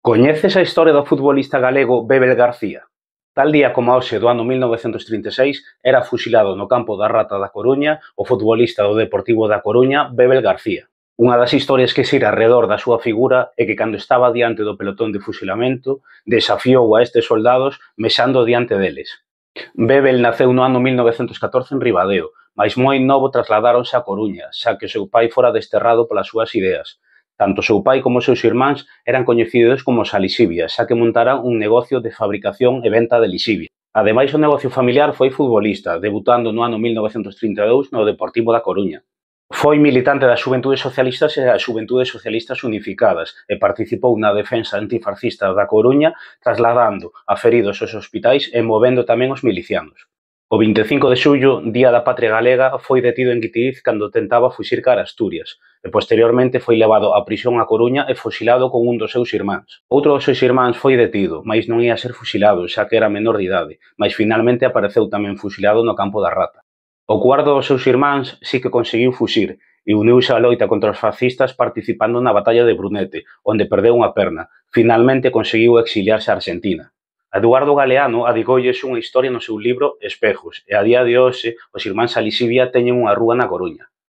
Coñeces a historia do futbolista galego Bébel García? Tal día como hoxe do ano 1936 era fusilado no campo da Rata da Coruña o futbolista do Deportivo da Coruña Bébel García. Unha das historias que xira arredor da súa figura é que cando estaba diante do pelotón de fusilamento desafiou a estes soldados mexando diante deles. Bébel naceu no ano 1914 en Ribadeo, mais moi novo trasladáronse a Coruña, xa que o seu pai fora desterrado polas súas ideas. Tanto o seu pai como os seus irmáns eran coñecidos como os Alixivias, xa que montaran un negocio de fabricación e venta de lixivia. Ademais, o negocio familiar foi futbolista, debutando no ano 1932 no Deportivo da Coruña. Foi militante das Xuventudes Socialistas e das Xuventudes Socialistas Unificadas e participou na defensa antifascista da Coruña, trasladando a feridos aos hospitais e movendo tamén os milicianos. O 25 de xullo, Día da Patria Galega, foi detido en Guitiriz cando tentaba fuxir cara a Asturias e posteriormente foi levado á prisión a Coruña e fusilado con un dos seus irmáns. Outro dos seus irmáns foi detido, mais non ia ser fusilado xa que era menor de idade, mas finalmente apareceu tamén fusilado no campo da Rata. O cuarto dos seus irmáns sí que conseguiu fuxir e uniuse á loita contra os fascistas participando na batalla de Brunete, onde perdeu unha perna. Finalmente conseguiu exiliarse a Argentina. Eduardo Galeano adicoulles unha historia no seu libro Espejos e a día de hoxe os irmáns Alixivia teñen unha rúa na Coruña.